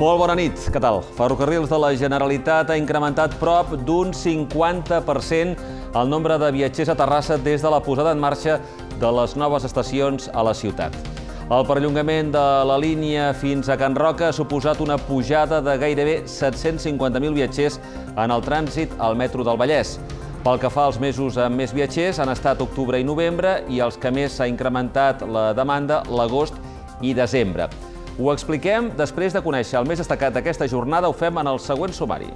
Molt bona nit, què tal? Ferrocarrils de la Generalitat ha incrementat prop d'un 50% el nombre de viatgers a Terrassa des de la posada en marxa de les noves estacions a la ciutat. El perllongament de la línia fins a Can Roca ha suposat una pujada de gairebé 750.000 viatgers en el trànsit al metro del Vallès. Pel que fa als mesos amb més viatgers, han estat octubre i novembre i els que més s'ha incrementat la demanda, l'agost i desembre. Ho expliquem després de conèixer el més destacat d'aquesta jornada. Ho fem en el següent sumari.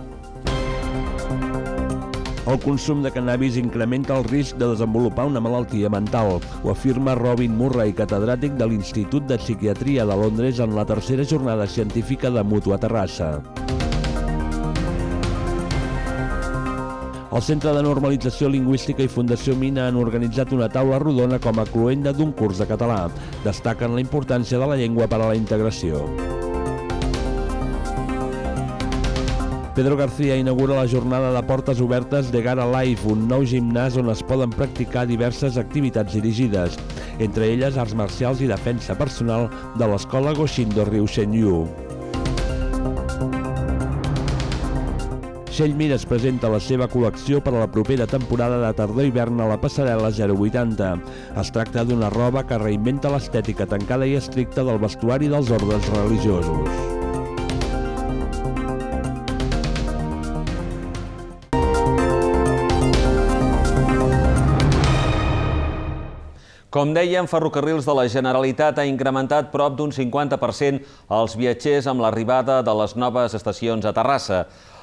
El consum de cannabis incrementa el risc de desenvolupar una malaltia mental. Ho afirma Robin Murray, catedràtic de l'Institut de Psiquiatria de Londres en la tercera jornada científica de Mutu a Terrassa. El Centre de Normalització Lingüística i Fundació Mina han organitzat una taula rodona com a cloenda d'un curs de català. Destaquen la importància de la llengua per a la integració. Pedro García inaugura la jornada de portes obertes de Gara Life, un nou gimnàs on es poden practicar diverses activitats dirigides, entre elles arts marcials i defensa personal de l'escola Goshindo Ryushenryu. Shell Mires presenta la seva col·lecció per a la propera temporada de tardor-hivern a la passarel·la 080. Es tracta d'una roba que reinventa l'estètica tancada i estricta del vestuari dels ordes religiosos. Com dèiem, Ferrocarrils de la Generalitat ha incrementat prop d'un 50% els viatgers amb l'arribada de les noves estacions a Terrassa.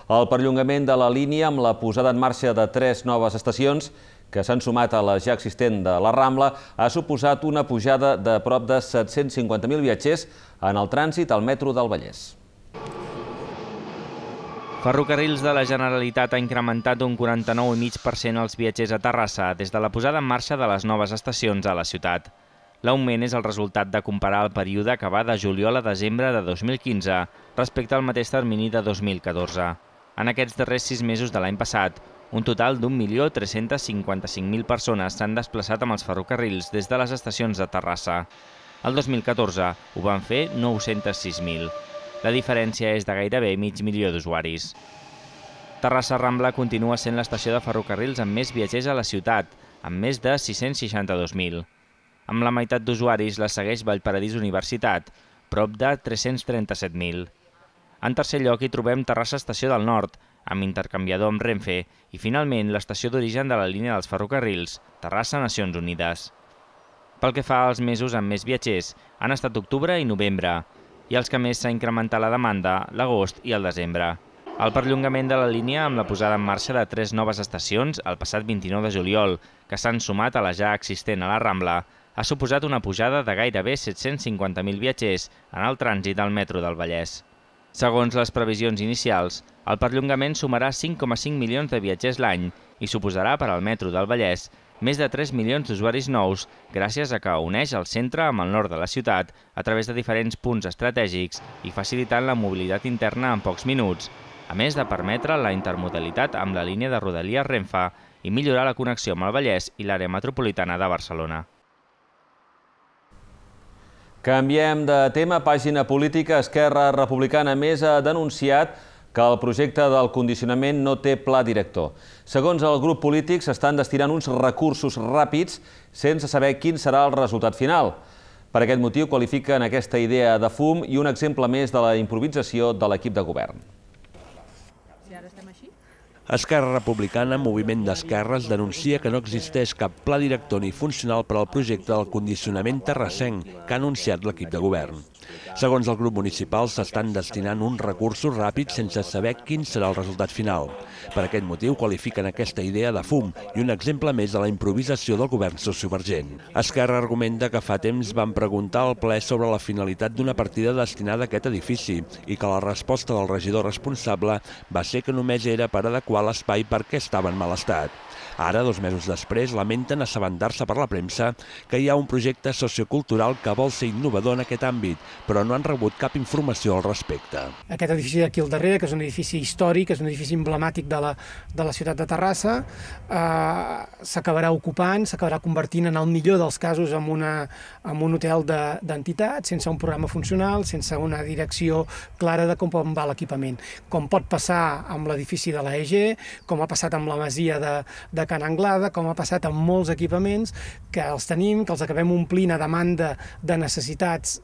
El perllongament de la línia amb la posada en marxa de 3 noves estacions, que s'han sumat a la ja existent de la Rambla, ha suposat una pujada de prop de 750.000 viatgers en el trànsit al metro del Vallès. Ferrocarrils de la Generalitat ha incrementat un 49,5% els viatgers a Terrassa des de la posada en marxa de les noves estacions a la ciutat. L'augment és el resultat de comparar el període que va de juliol a desembre de 2015 respecte al mateix termini de 2014. En aquests darrers 6 mesos de l'any passat, un total d'1.355.000 persones s'han desplaçat amb els ferrocarrils des de les estacions de Terrassa. El 2014 ho van fer 906.000. La diferència és de gairebé mig milió d'usuaris. Terrassa Rambla continua sent l'estació de ferrocarrils amb més viatgers a la ciutat, amb més de 662.000. Amb la meitat d'usuaris la segueix Vallparadís Universitat, prop de 337.000. En tercer lloc hi trobem Terrassa Estació del Nord, amb intercanviador amb Renfe, i finalment l'estació d'origen de la línia dels ferrocarrils, Terrassa Nacions Unides. Pel que fa als mesos amb més viatgers, han estat octubre i novembre, i els que més s'ha incrementat la demanda, l'agost i el desembre. El perllongament de la línia amb la posada en marxa de 3 noves estacions el passat 29 de juliol, que s'han sumat a la ja existent a la Rambla, ha suposat una pujada de gairebé 750.000 viatgers en el trànsit al metro del Vallès. Segons les previsions inicials, el perllongament sumarà 5,5 milions de viatgers l'any i suposarà per al metro del Vallès més de 3 milions d'usuaris nous gràcies a que uneix el centre amb el nord de la ciutat a través de diferents punts estratègics i facilitant la mobilitat interna en pocs minuts, a més de permetre la intermodalitat amb la línia de Rodalies Renfe i millorar la connexió amb el Vallès i l'àrea metropolitana de Barcelona. Canviem de tema. Pàgina política. Esquerra Republicana Més ha denunciat que el projecte del condicionament no té pla director. Segons el grup polític, s'estan destinant uns recursos ràpids sense saber quin serà el resultat final. Per aquest motiu qualifiquen aquesta idea de fum i un exemple més de la improvisació de l'equip de govern. Esquerra Republicana, moviment d'esquerres, denuncia que no existeix cap pla director ni funcional per al projecte del condicionament terrassenc que ha anunciat l'equip de govern. Segons el grup municipal, s'estan destinant uns recursos ràpids sense saber quin serà el resultat final. Per aquest motiu qualifiquen aquesta idea de fum i un exemple més de la improvisació del govern sociovergent. Esquerra argumenta que fa temps van preguntar al ple sobre la finalitat d'una partida destinada a aquest edifici i que la resposta del regidor responsable va ser que només era per adequar l'espai perquè estava en mal estat. Ara, 2 mesos després, lamenten assabentar-se per la premsa que hi ha un projecte sociocultural que vol ser innovador en aquest àmbit, però no han rebut cap informació al respecte. Aquest edifici d'aquí al darrere, que és un edifici històric, és un edifici emblemàtic de la ciutat de Terrassa, s'acabarà ocupant, s'acabarà convertint en el millor dels casos en un hotel d'entitats, sense un programa funcional, sense una direcció clara de com va l'equipament. Com pot passar amb l'edifici de l'AEG, com ha passat amb la masia de Can Anglada, com ha passat amb molts equipaments que els tenim, que els acabem omplint a demanda de necessitats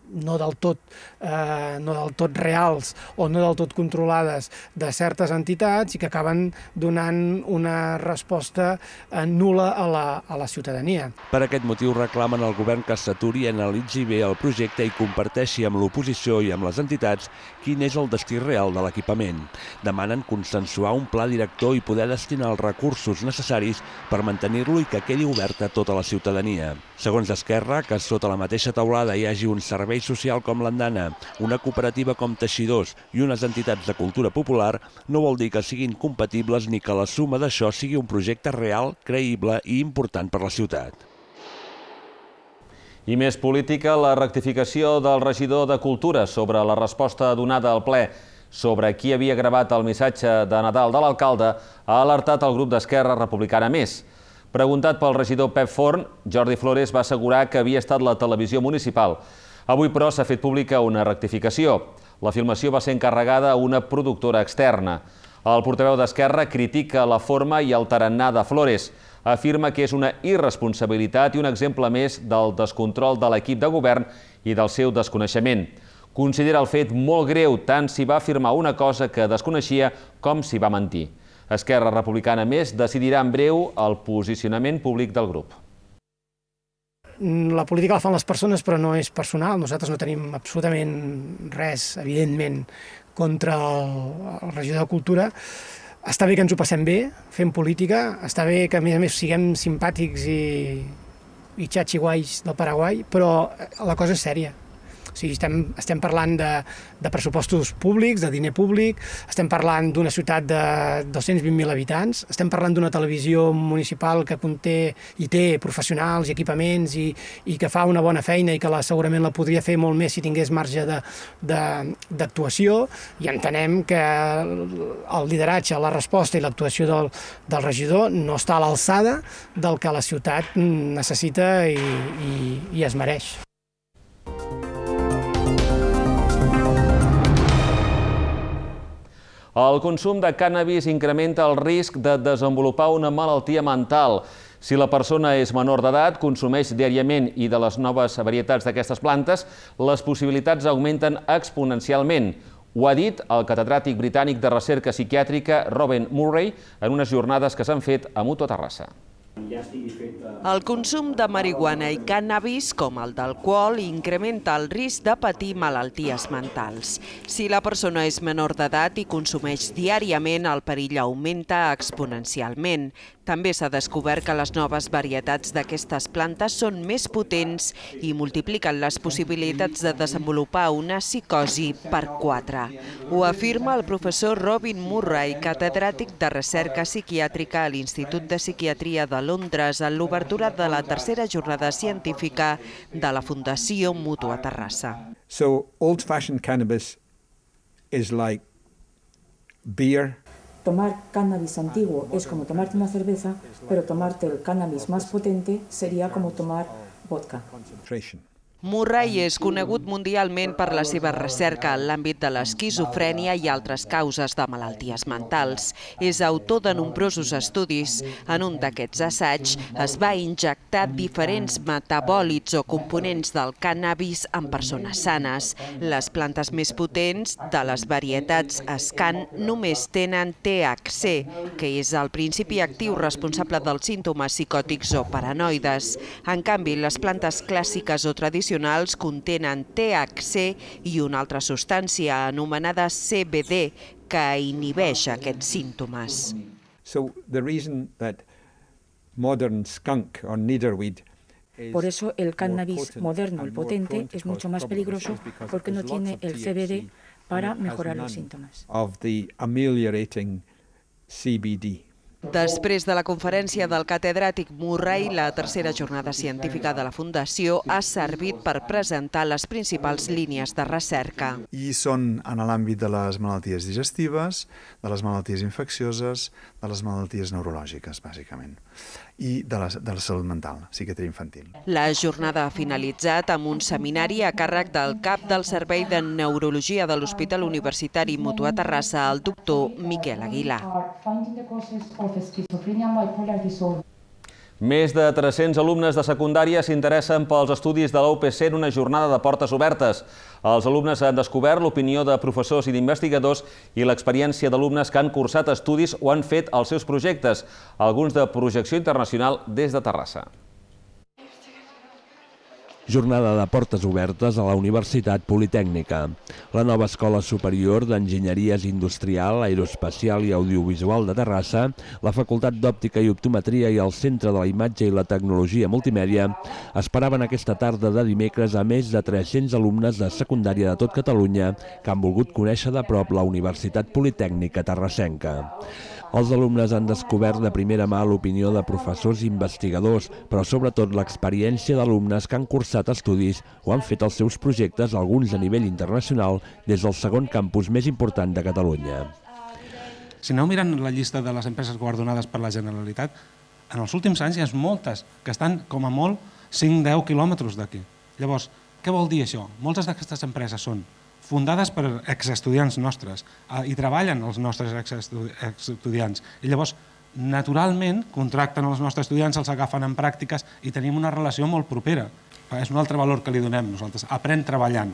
no del tot reals o no del tot controlades de certes entitats i que acaben donant una resposta nul·la a la ciutadania. Per aquest motiu reclamen al govern que s'aturi i analitzi bé el projecte i comparteixi amb l'oposició i amb les entitats quin és el destí real de l'equipament. Demanen consensuar un pla director i poder destinar els recursos necessaris per mantenir-lo i que quedi obert a tota la ciutadania. Segons Esquerra, que sota la mateixa teulada hi hagi un servei social com l'Andana, una cooperativa com Teixidors i unes entitats de cultura popular, no vol dir que siguin compatibles ni que la suma d'això sigui un projecte real, creïble i important per la ciutat. I més política, la rectificació del regidor de Cultura sobre la resposta donada al ple sobre qui havia gravat el missatge de Nadal de l'alcalde ha alertat el grup d'Esquerra Republicana Més. Preguntat pel regidor Pep Forn, Jordi Flores va assegurar que havia estat la televisió municipal. Avui, però, s'ha fet pública una rectificació. La filmació va ser encarregada a una productora externa. El portaveu d'Esquerra critica la forma i el tarannà de Flores. Afirma que és una irresponsabilitat i un exemple més del descontrol de l'equip de govern i del seu desconeixement. Considera el fet molt greu tant si va afirmar una cosa que desconeixia com si va mentir. Esquerra Republicana Més decidirà en breu el posicionament públic del grup. La política la fan les persones, però no és personal. Nosaltres no tenim absolutament res, evidentment, contra el regidor de Cultura. Està bé que ens ho passem bé, fem política, està bé que a més siguem simpàtics i xatxiguais del Paraguai, però la cosa és sèria. O sigui, estem parlant de pressupostos públics, de diner públic, estem parlant d'una ciutat de 220.000 habitants, estem parlant d'una televisió municipal que conté i té professionals i equipaments i que fa una bona feina i que segurament la podria fer molt més si tingués marge d'actuació, i entenem que el lideratge, la resposta i l'actuació del regidor no està a l'alçada del que la ciutat necessita i es mereix. El consum de cànnabis incrementa el risc de desenvolupar una malaltia mental. Si la persona és menor d'edat, consumeix diàriament i de les noves varietats d'aquestes plantes, les possibilitats augmenten exponencialment. Ho ha dit el catedràtic britànic de recerca psiquiàtrica Robin Murray en unes jornades que s'han fet a Mutua Terrassa. El consum de marihuana i cànnabis, com el d'alcohol, incrementa el risc de patir malalties mentals. Si la persona és menor d'edat i consumeix diàriament, el perill augmenta exponencialment. També s'ha descobert que les noves varietats d'aquestes plantes són més potents i multipliquen les possibilitats de desenvolupar una psicosi per 4. Ho afirma el professor Robin Murray, catedràtic de recerca psiquiàtrica a l'Institut de Psiquiatria de Londres en l'obertura de la tercera jornada científica de la Fundació Mutua Terrassa. So, old-fashioned cannabis is like beer. Tomar cannabis antiguo es como tomarte una cerveza, pero tomarte el cannabis más potente sería como tomar vodka. Murray és conegut mundialment per la seva recerca en l'àmbit de l'esquizofrènia i altres causes de malalties mentals. És autor de nombrosos estudis. En un d'aquests assaigs es va injectar diferents metabòlits o components del cànnabis en persones sanes. Les plantes més potents de les varietats Scan només tenen THC, que és el principi actiu responsable dels símptomes psicòtics o paranoides. En canvi, les plantes clàssiques o tradicionals contenen THC i una altra substància anomenada CBD que inhibeix aquests símptomes. Por eso el cannabis moderno, el potente, es mucho más peligroso porque no tiene el CBD para mejorar los síntomas. CBD. Després de la conferència del catedràtic Murray, la tercera jornada científica de la Fundació ha servit per presentar les principals línies de recerca. I són en l'àmbit de les malalties digestives, de les malalties infeccioses, de les malalties neurològiques, bàsicament, i de la salut mental, psiquiatria infantil. La jornada ha finalitzat amb un seminari a càrrec del cap del Servei de Neurologia de l'Hospital Universitari Mutua Terrassa, el doctor Miquel Aguilar. Més de 300 alumnes de secundària s'interessen pels estudis de la UPC en una jornada de portes obertes. Els alumnes han descobert l'opinió de professors i d'investigadors i l'experiència d'alumnes que han cursat estudis o han fet els seus projectes, alguns de projecció internacional des de Terrassa. Jornada de portes obertes a la Universitat Politècnica. La nova Escola Superior d'Enginyeries Industrial, Aeroespacial i Audiovisual de Terrassa, la Facultat d'Òptica i Optometria i el Centre de la Imatge i la Tecnologia Multimèdia esperaven aquesta tarda de dimecres a més de 300 alumnes de secundària de tot Catalunya que han volgut conèixer de prop la Universitat Politècnica terrassenca. Els alumnes han descobert de primera mà l'opinió de professors i investigadors, però sobretot l'experiència d'alumnes que han cursat estudis o han fet els seus projectes, alguns a nivell internacional, des del segon campus més important de Catalunya. Si aneu mirant la llista de les empreses guardonades per la Generalitat, en els últims anys hi ha moltes que estan com a molt 5-10 quilòmetres d'aquí. Llavors, què vol dir això? Moltes d'aquestes empreses són fundades per exestudiants nostres i treballen els nostres exestudiants. I llavors, naturalment, contracten els nostres estudiants, els agafen en pràctiques i tenim una relació molt propera. És un altre valor que li donem nosaltres. Aprèn treballant.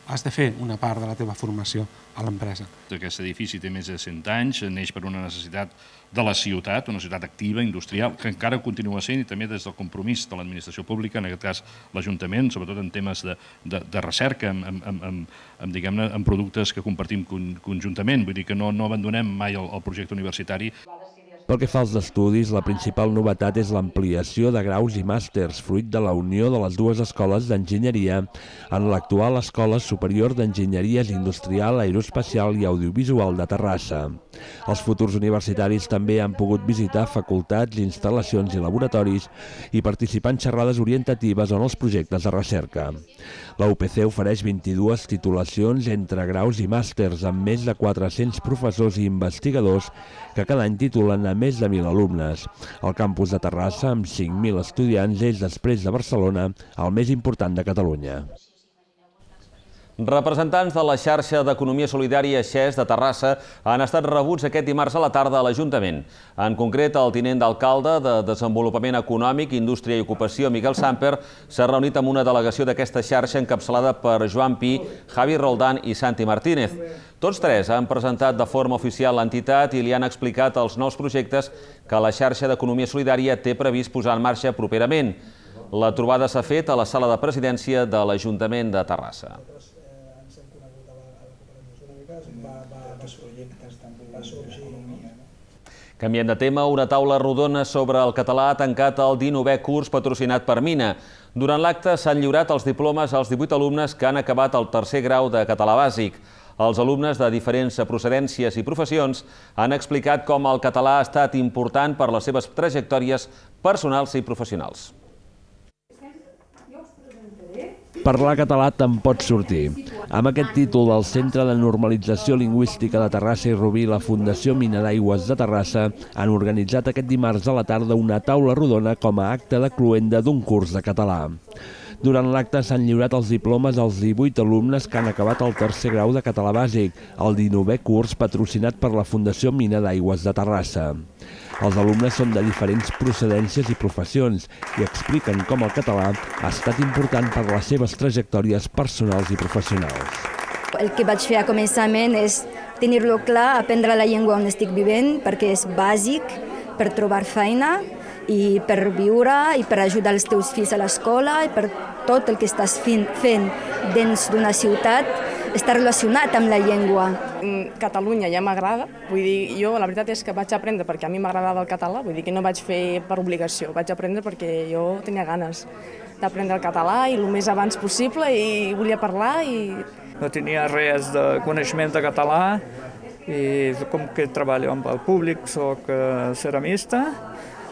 Has de fer una part de la teva formació a l'empresa. Aquest edifici té més de 100 anys, neix per una necessitat de la ciutat, una ciutat activa, industrial, que encara continua sent, i també des del compromís de l'administració pública, en aquest cas l'Ajuntament, sobretot en temes de recerca, en productes que compartim conjuntament. Vull dir que no abandonem mai el projecte universitari. Pel que fa als estudis, la principal novetat és l'ampliació de graus i màsters, fruit de la unió de les dues escoles d'enginyeria en l'actual Escola Superior d'Enginyeries Industrial, Aeroespacial i Audiovisual de Terrassa. Els futurs universitaris també han pogut visitar facultats, instal·lacions i laboratoris i participar en xerrades orientatives en els projectes de recerca. La UPC ofereix 22 titulacions entre graus i màsters amb més de 400 professors i investigadors que cada any titulen a més de 1.000 alumnes. El campus de Terrassa, amb 5.000 estudiants, és, després de Barcelona, el més important de Catalunya. Representants de la xarxa d'Economia Solidària XES de Terrassa han estat rebuts aquest dimarts a la tarda a l'Ajuntament. En concret, el tinent d'alcalde de Desenvolupament Econòmic, Indústria i Ocupació, Miguel Samper, s'ha reunit amb una delegació d'aquesta xarxa encapçalada per Joan Pi, Javi Roldán i Santi Martínez. Tots tres han presentat de forma oficial l'entitat i li han explicat els nous projectes que la xarxa d'Economia Solidària té previst posar en marxa properament. La trobada s'ha fet a la sala de presidència de l'Ajuntament de Terrassa. Canviem de tema, una taula rodona sobre el català ha tancat el 19è curs patrocinat per Mina. Durant l'acte s'han lliurat els diplomes als 18 alumnes que han acabat el tercer grau de català bàsic. Els alumnes de diferents procedències i professions han explicat com el català ha estat important per les seves trajectòries personals i professionals. Parlar català te'n pot sortir. Amb aquest títol del Centre de Normalització Lingüística de Terrassa i Rubí, la Fundació Mina d'Aigües de Terrassa han organitzat aquest dimarts a la tarda una taula rodona com a acte de cloenda d'un curs de català. Durant l'acte s'han lliurat els diplomes als 18 alumnes que han acabat el tercer grau de català bàsic, el 19è curs patrocinat per la Fundació Mina d'Aigües de Terrassa. Els alumnes són de diferents procedències i professions i expliquen com el català ha estat important per les seves trajectòries personals i professionals. El que vaig fer a començament és tenir-lo clar, aprendre la llengua on estic vivint, perquè és bàsic per trobar feina i per viure i per ajudar els teus fills a l'escola i per tot el que estàs fent dins d'una ciutat està relacionat amb la llengua. Catalunya ja m'agrada, vull dir, jo la veritat és que vaig aprendre perquè a mi m'agradava el català, vull dir que no vaig fer per obligació, vaig aprendre perquè jo tenia ganes d'aprendre el català i el més abans possible i volia parlar i... No tenia res de coneixement de català i com que treballo amb el públic, soc ceramista,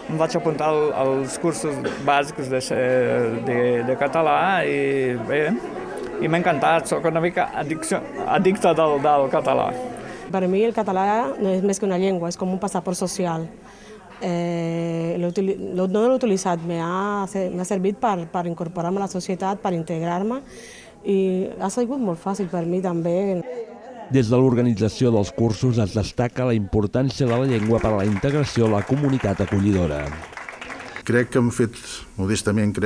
em vaig apuntar als cursos bàsics de català i bé, i m'ha encantat, soc una mica addicte del català. Per mi el català no és més que una llengua, és com un passaport social. No l'he utilitzat, m'ha servit per incorporar-me a la societat, per integrar-me i ha sigut molt fàcil per mi també. Des de l'organització dels cursos es destaca la importància de la llengua per a la integració a la comunitat acollidora. Crec que hem fet, modestament,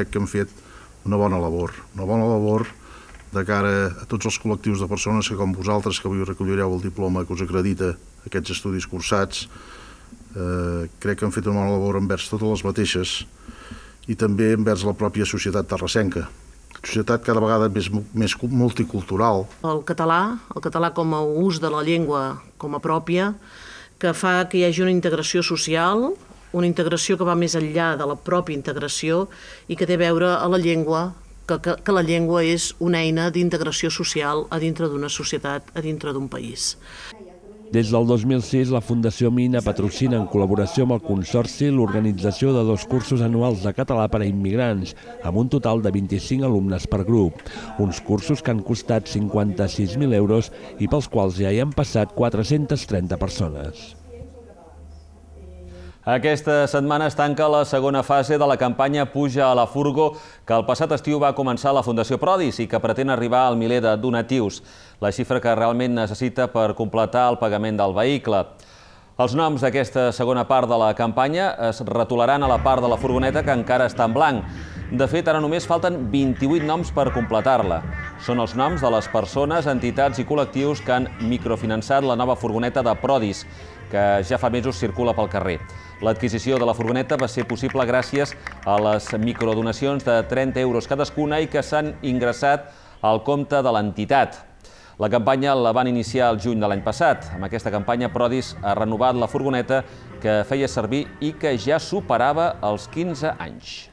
una bona labor de cara a tots els col·lectius de persones que, com vosaltres, que avui recollireu el diploma que us acredita aquests estudis cursats, crec que han fet una bona labor envers totes les mateixes i també envers la pròpia societat terrassenca. Societat cada vegada més multicultural. El català com a ús de la llengua com a pròpia, que fa que hi hagi una integració social, una integració que va més enllà de la pròpia integració i que té a veure a la llengua, que la llengua és una eina d'integració social a dintre d'una societat, a dintre d'un país. Des del 2006, la Fundació Mina patrocina, en col·laboració amb el Consorci, l'organització de 2 cursos anuals de català per a immigrants, amb un total de 25 alumnes per grup. Uns cursos que han costat 56.000 euros i pels quals ja hi han passat 430 persones. Aquesta setmana es tanca la segona fase de la campanya Puja a la Furgo, que el passat estiu va començar la Fundació Prodis i que pretén arribar al miler de donatius, la xifra que realment necessita per completar el pagament del vehicle. Els noms d'aquesta segona part de la campanya es retolaran a la part de la furgoneta que encara està en blanc. De fet, ara només falten 28 noms per completar-la. Són els noms de les persones, entitats i col·lectius que han microfinançat la nova furgoneta de Prodis, que ja fa mesos circula pel carrer. L'adquisició de la furgoneta va ser possible gràcies a les microdonacions de 30 euros cadascuna i que s'han ingressat al compte de l'entitat. La campanya la van iniciar el juny de l'any passat. Amb aquesta campanya, Prodis ha renovat la furgoneta que feia servir i que ja superava els 15 anys.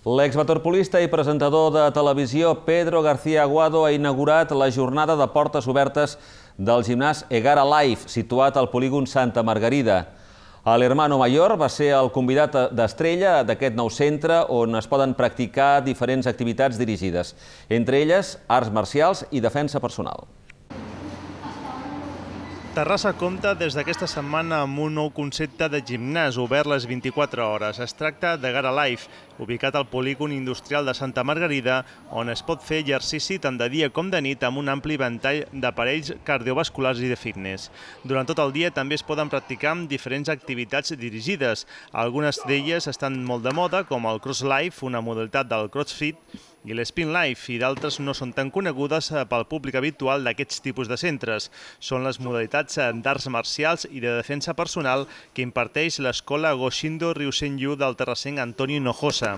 L'exwaterpolista i presentador de televisió Pedro García Aguado ha inaugurat la jornada de portes obertes del gimnàs Egara Life, situat al polígon Santa Margarida. L'Hermano Mayor va ser el convidat d'estrella d'aquest nou centre on es poden practicar diferents activitats dirigides, entre elles arts marcials i defensa personal. Terrassa compta des d'aquesta setmana amb un nou concepte de gimnàs obert les 24 hores. Es tracta d'Egara Life, ubicat al polígon industrial de Santa Margarida, on es pot fer exercici tant de dia com de nit amb un ampli ventall d'aparells cardiovasculars i de fitness. Durant tot el dia també es poden practicar diferents activitats dirigides. Algunes d'elles estan molt de moda, com el Cross Life, una modalitat del CrossFit, i l'Spin Life, i d'altres no són tan conegudes pel públic habitual d'aquests tipus de centres. Són les modalitats d'arts marcials i de defensa personal que imparteix l'escola Goshindo Ryusenryu del terrassenc Antonio Hinojosa.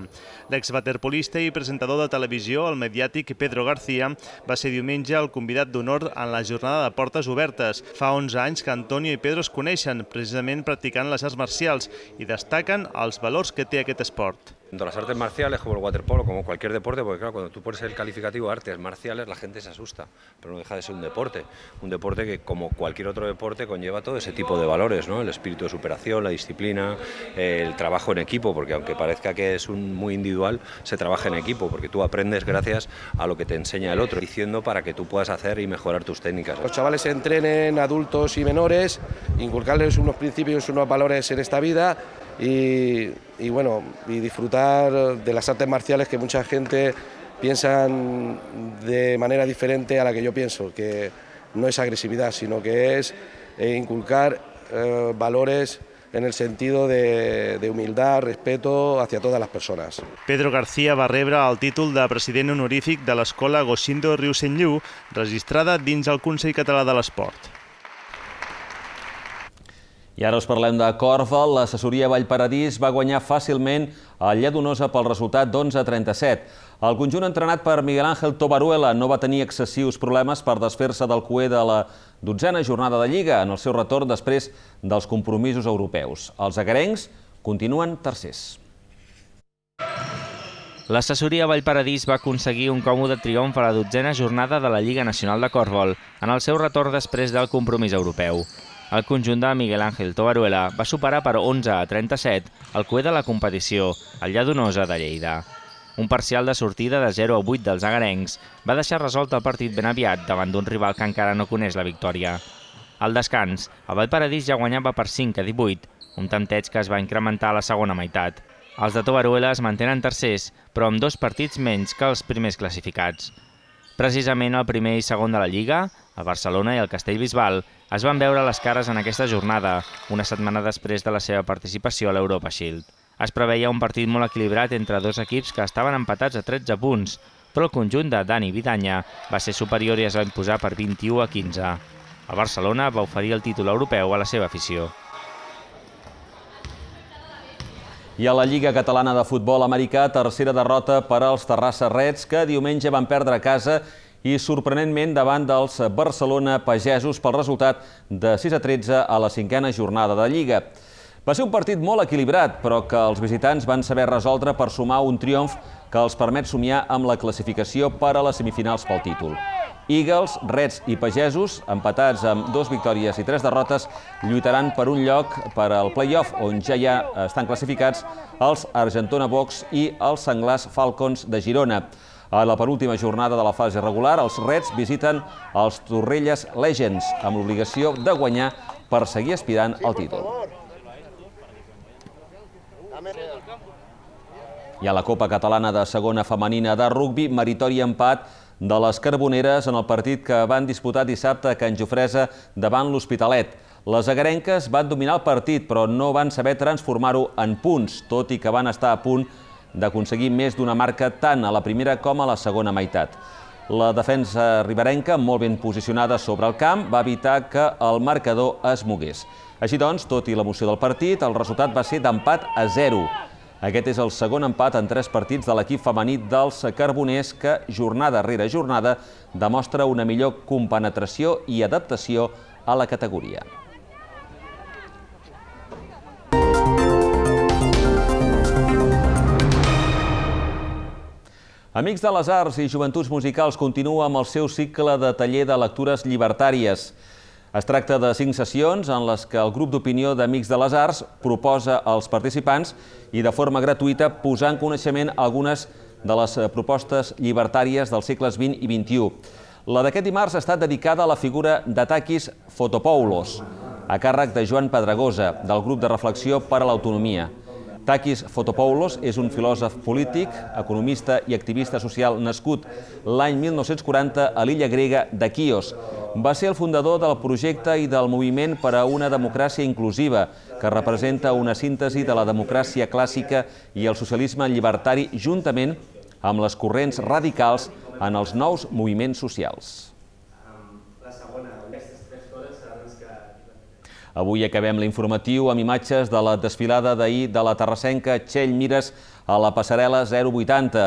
L'exwaterpolista i presentador de televisió, el mediàtic Pedro García, va ser diumenge el convidat d'honor en la jornada de portes obertes. Fa 11 anys que Antonio i Pedro es coneixen, precisament practicant les arts marcials, i destaquen els valors que té aquest esport. Tanto las artes marciales como el waterpolo, como cualquier deporte, porque claro, cuando tú pones el calificativo artes marciales la gente se asusta, pero no deja de ser un deporte que como cualquier otro deporte conlleva todo ese tipo de valores, ¿no? El espíritu de superación, la disciplina, el trabajo en equipo, porque aunque parezca que es muy individual, se trabaja en equipo, porque tú aprendes gracias a lo que te enseña el otro, diciendo para que tú puedas hacer y mejorar tus técnicas. Los chavales entrenen, adultos y menores, inculcarles unos principios, unos valores en esta vida, y disfrutar de las artes marciales que mucha gente piensa de manera diferente a la que yo pienso, que no es agresividad, sino que es inculcar valores en el sentido de humildad, respeto hacia todas las personas. Pedro García va rebre el títol de president honorífic de l'escola Goshindo Ryusenryu, registrada dins el Consell Català de l'Esport. I ara us parlem de còrfbal. L'assessoria Vallparadís va guanyar fàcilment el Lladonosa pel resultat d'11-37. El conjunt entrenat per Miguel Ángel Tobaruela no va tenir excessius problemes per desfer-se del cuer de la 12a jornada de Lliga en el seu retorn després dels compromisos europeus. Els egarencs continuen tercers. L'assessoria Vallparadís va aconseguir un còmode triomf a la 12a jornada de la Lliga Nacional de Corfbol, en el seu retorn després del compromís europeu. El conjunt de Miguel Ángel Tobaruela va superar per 11-37 el cué de la competició, el Lladonosa de Lleida. Un parcial de sortida de 0-8 dels agarencs va deixar resolt el partit ben aviat davant d'un rival que encara no coneix la victòria. Al descans, el Vallparadís ja guanyava per 5-18, un tanteig que es va incrementar a la segona meitat. Els de Tobaruela es mantenen tercers, però amb 2 partits menys que els primers classificats. Precisament el primer i segon de la Lliga, el Barcelona i el Castellbisbal, es van veure les cares en aquesta jornada, una setmana després de la seva participació a l'Europa Shield. Es preveia un partit molt equilibrat entre 2 equips que estaven empatats a 13 punts, però el conjunt de Dani Vidanya va ser superior i es va imposar per 21-15. El Barcelona va oferir el títol europeu a la seva afició. I a la Lliga Catalana de Futbol Americà, tercera derrota per als Terrassa Reds, que diumenge van perdre a casa i sorprenentment davant dels Barcelona Pagesos pel resultat de 6-13 a la 5a jornada de Lliga. Va ser un partit molt equilibrat, però que els visitants van saber resoldre per sumar un triomf que els permet somiar amb la classificació per a les semifinals pel títol. Eagles, Reds i Pagesos, empatats amb 2 victòries i 3 derrotes, lluitaran per un lloc per al play-off, on ja estan classificats els Argentona Box i els Senglars Falcons de Girona. A la penúltima jornada de la fase regular, els Reds visiten els Torrelles Legends, amb l'obligació de guanyar per seguir aspirant al títol. I a la Copa Catalana de Segona Femenina de Rugbi, meritori empat de les Carboneres en el partit que van disputar dissabte a Can Jofresa davant l'Hospitalet. Les agarenques van dominar el partit, però no van saber transformar-ho en punts, tot i que van estar a punt d'aconseguir més d'una marca tant a la primera com a la segona meitat. La defensa riberenca, molt ben posicionada sobre el camp, va evitar que el marcador es mogués. Així doncs, tot i l'emoció del partit, el resultat va ser d'empat a 0. Aquest és el segon empat en 3 partits de l'equip femení dels Carboners que, jornada rere jornada, demostra una millor compenetració i adaptació a la categoria. Amics de les Arts i Joventuts Musicals continua amb el seu cicle de taller de lectures llibertàries. Es tracta de 5 sessions en les que el grup d'opinió d'Amics de les Arts proposa als participants i de forma gratuïta posar en coneixement algunes de les propostes llibertàries dels segles XX i XXI. La d'aquest dimarts ha estat dedicada a la figura de Takis Fotopoulos, a càrrec de Joan Pedregosa, del grup de reflexió per a l'autonomia. Takis Fotopoulos és un filòsof polític, economista i activista social nascut l'any 1940 a l'illa grega de Quios. Va ser el fundador del projecte i del moviment per a una democràcia inclusiva, que representa una síntesi de la democràcia clàssica i el socialisme llibertari juntament amb les corrents radicals en els nous moviments socials. Avui acabem l'informatiu amb imatges de la desfilada d'ahir de la terrassenca Txell Mires a la passarel·la 080.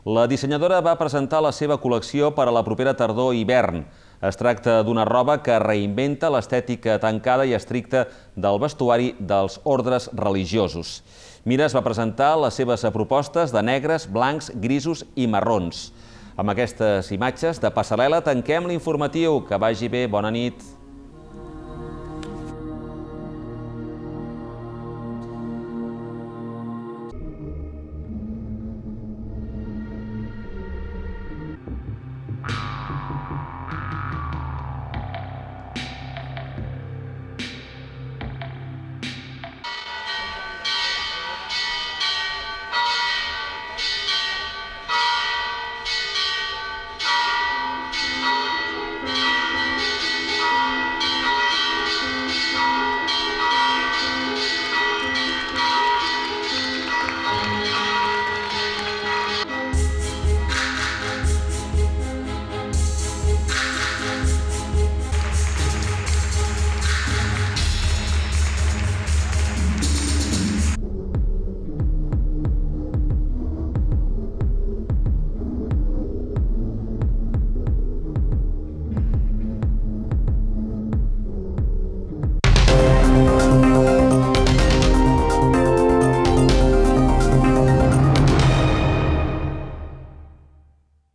La dissenyadora va presentar la seva col·lecció per a la propera tardor i hivern. Es tracta d'una roba que reinventa l'estètica tancada i estricta del vestuari dels ordres religiosos. Mires va presentar les seves propostes de negres, blancs, grisos i marrons. Amb aquestes imatges de passarel·la tanquem l'informatiu. Que vagi bé, bona nit.